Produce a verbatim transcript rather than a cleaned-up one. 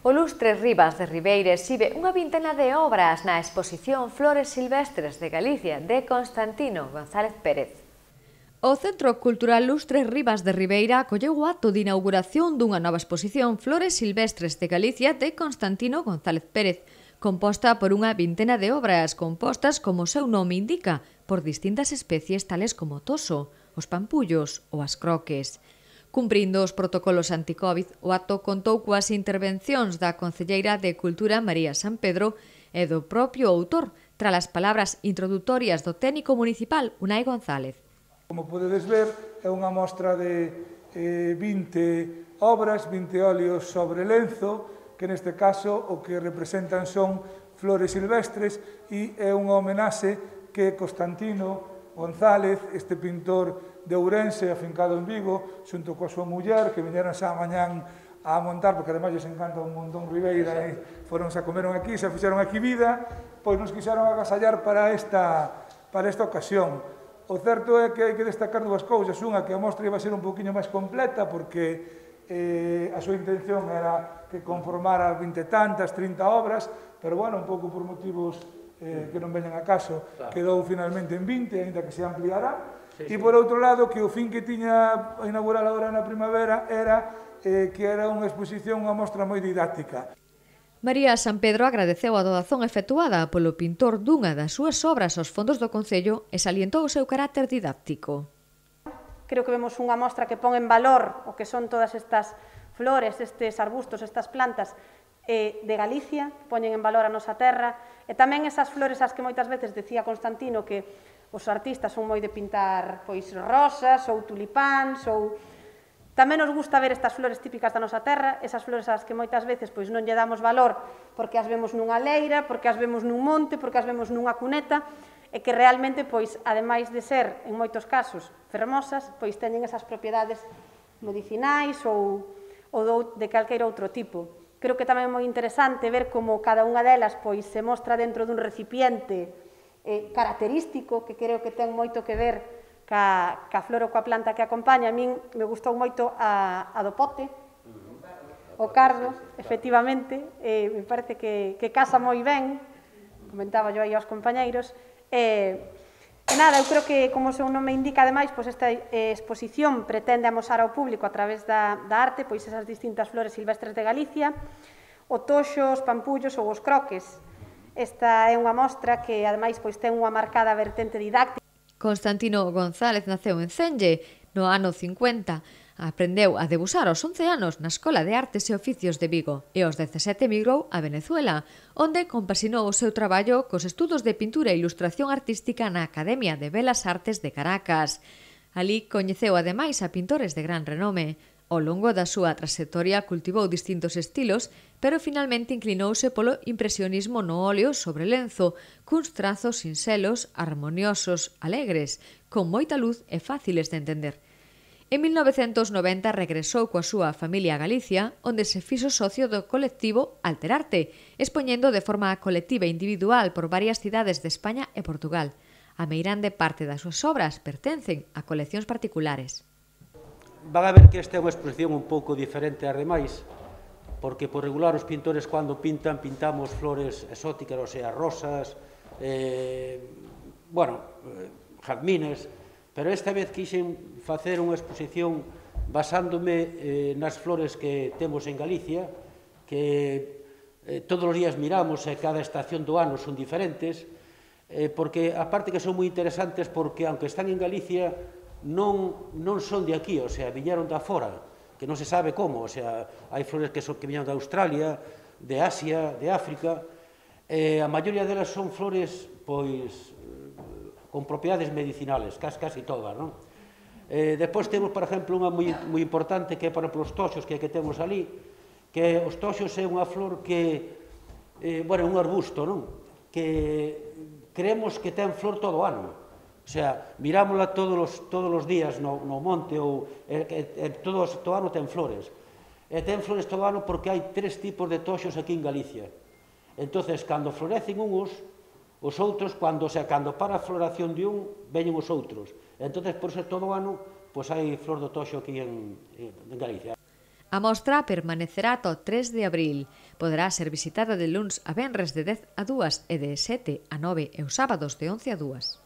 O Lustre Rivas de Ribeira exhibe unha vintena de obras na exposición Flores Silvestres de Galicia de Constantino González Pérez. O Centro Cultural Lustre Rivas de Ribeira acolleu o acto de inauguración dunha nova exposición Flores Silvestres de Galicia de Constantino González Pérez, composta por unha vintena de obras compostas, como o seu nome indica, por distintas especies tales como o toso, os pampullos ou as croques. Cumprindo os protocolos anti-Covid, o acto contou coas intervencións da concelleira de Cultura María San Pedro e do propio autor, tras as palabras introdutorias do técnico municipal Unai González. Como podedes ver, é unha mostra de eh, vinte obras, vinte óleos sobre lenzo, que neste caso o que representan son flores silvestres, e é unha homenaxe que Constantino González, este pintor de Ourense, afincado en Vigo, xunto coa súa muller, que viñeron xa mañán a montar, porque ademais lles encanta un montón Ribeira, e foron xa comeron aquí, xa fixeron aquí vida, pois nos quixeron agasallar para esta, para esta ocasión. O certo é que hai que destacar dúas cousas. Unha, que a mostra iba a ser un poquinho máis completa, porque eh, a súa intención era que conformara vinte tantas, trinta obras, pero, bueno, un pouco por motivos eh, que non veñan a caso, quedou finalmente en vinte, ainda que se ampliará. Sí, sí. E, por outro lado, que o fin que tiña a inaugurar agora na primavera era eh, que era unha exposición, unha mostra moi didáctica. María San Pedro agradeceu a doazón efectuada polo pintor dunha das súas obras aos fondos do Concello e salientou o seu carácter didáctico. Creo que vemos unha mostra que pon en valor o que son todas estas flores, estes arbustos, estas plantas eh, de Galicia, poñen en valor a nosa terra, e tamén esas flores as que moitas veces decía Constantino que os artistas son moi de pintar pois rosas ou tulipáns, ou tamén nos gusta ver estas flores típicas da nosa terra, esas flores ás que moitas veces pois non lle damos valor porque as vemos nunha leira, porque as vemos nun monte, porque as vemos nunha cuneta, e que realmente, pois, ademais de ser, en moitos casos, fermosas, pois teñen esas propiedades medicinais ou, ou de calqueira outro tipo. Creo que tamén é moi interesante ver como cada unha delas pois se mostra dentro dun recipiente eh, característico, que creo que ten moito que ver ca, ca flor ou coa planta que acompaña. A min me gustou moito a, a do pote, o cardo, efectivamente, eh, me parece que, que casa moi ben, comentaba yo aí aos compañeiros. E, e nada, eu creo que, como o seu nome indica, ademais, pois esta eh, exposición pretende amosar ao público a través da, da arte pois esas distintas flores silvestres de Galicia, o toxo, os pampullos ou os croques. Esta é unha mostra que, ademais, pois ten unha marcada vertente didáctica. Constantino González naceu en Cenge no ano cincuenta. Aprendeu a debuxar aos once anos na Escola de Artes e Oficios de Vigo e aos dezasete emigrou a Venezuela, onde compaxinou o seu traballo cos estudos de pintura e ilustración artística na Academia de Belas Artes de Caracas. Alí coñeceu ademais a pintores de gran renome. Ao longo da súa traxectoria cultivou distintos estilos, pero finalmente inclinouse polo impresionismo no óleo sobre lenzo, cuns trazos sinxelos, armoniosos, alegres, con moita luz e fáciles de entender. En mil novecentos noventa regresou coa súa familia a Galicia, onde se fixo socio do colectivo Alterarte, expoñendo de forma colectiva e individual por varias cidades de España e Portugal. A meirande parte das súas obras pertencen a coleccións particulares. Van a ver que esta é unha exposición un pouco diferente ás demais, porque por regular os pintores cando pintan, pintamos flores exóticas, ou sea, rosas, eh, bueno, eh, jazmines, pero esta vez quixen facer unha exposición basándome eh, nas flores que temos en Galicia, que eh, todos os días miramos e cada estación do ano son diferentes, eh, porque aparte que son moi interesantes porque, aunque están en Galicia, non, non son de aquí, o sea, viñeron da fora, que non se sabe como, o sea, hai flores que, son, que viñeron de Australia, de Asia, de África, e a maioría delas son flores, pois, con propiedades medicinales, casi, casi todas, non? Eh, despois temos, por exemplo, unha moi, moi importante que é para os toxos que, que temos ali, que os toxos é unha flor que, eh, bueno, é un arbusto, non? Que creemos que ten flor todo o ano. O sea, mirámola todos os, todos os días no, no monte, ou e, e, todo, todo ano ten flores. E ten flores todo ano porque hai tres tipos de toxos aquí en Galicia. Entonces, cando florecen uns, os outros, cando, o sea, cando para a floración de un, veñen os outros. Entonces, por ser todo o ano, pois hai flor do toxo aquí en, en Galicia. A mostra permanecerá ata o tres de abril. Poderá ser visitada de luns a venres de dez a dúas e de sete a nove e os sábados de once a dúas.